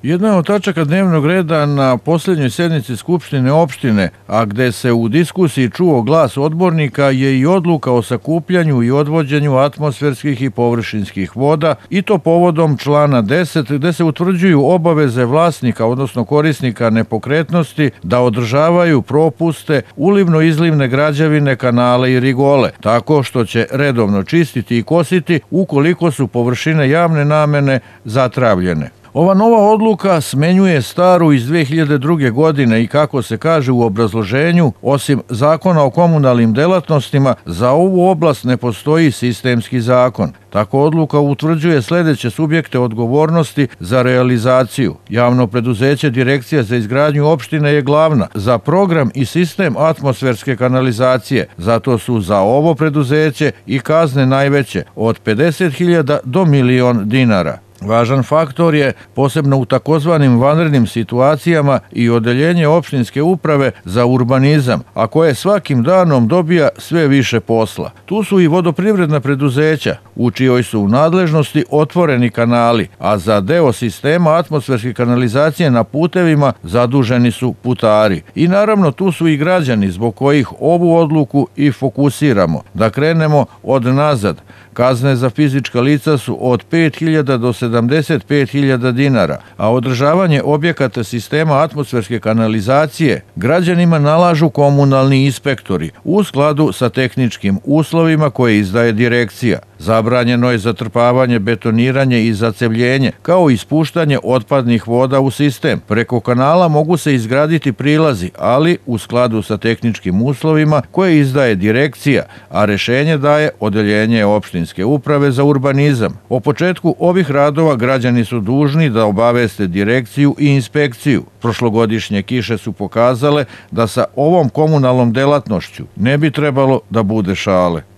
Jedna od tačaka dnevnog reda na posljednjoj sjednici Skupštine opštine, a gde se u diskusiji čuo glas odbornika, je i odluka o sakupljanju i odvođenju atmosferskih i površinskih voda, i to povodom člana 10, gde se utvrđuju obaveze vlasnika, odnosno korisnika nepokretnosti, da održavaju propuste, ulivno-izlivne građevine, kanale i rigole, tako što će redovno čistiti i kositi ukoliko su površine javne namene zatravljene. Ova nova odluka smenjuje staru iz 2002. godine i, kako se kaže u obrazloženju, osim Zakona o komunalnim delatnostima, za ovu oblast ne postoji sistemski zakon. Tako odluka utvrđuje sljedeće subjekte odgovornosti za realizaciju. Javno preduzeće Direkcija za izgradnju opštine je glavna za program i sistem atmosferske kanalizacije. Zato su za ovo preduzeće i kazne najveće, od 50.000 do 1.000.000 dinara. Važan faktor je, posebno u takozvanim vanrednim situacijama, i odeljenje opštinske uprave za urbanizam, a koje svakim danom dobija sve više posla. Tu su i vodoprivredna preduzeća, u čijoj su u nadležnosti otvoreni kanali, a za deo sistema atmosferske kanalizacije na putevima zaduženi su putari. I naravno tu su i građani, zbog kojih ovu odluku i fokusiramo. Da krenemo od nazad. Kazne za fizička lica su od 5.000 do 75.000 dinara, a održavanje objekata sistema atmosferske kanalizacije građanima nalažu komunalni inspektori u skladu sa tehničkim uslovima koje izdaje Direkcija. Zabranjeno je zatrpavanje, betoniranje i zacevljenje, kao i ispuštanje otpadnih voda u sistem. Preko kanala mogu se izgraditi prilazi, ali u skladu sa tehničkim uslovima koje izdaje Direkcija, a rješenje daje odeljenje opštinske uprave za urbanizam. O početku ovih radova građani su dužni da obaveste Direkciju i inspekciju. Prošlogodišnje kiše su pokazale da sa ovom komunalnom delatnošću ne bi trebalo da bude šale.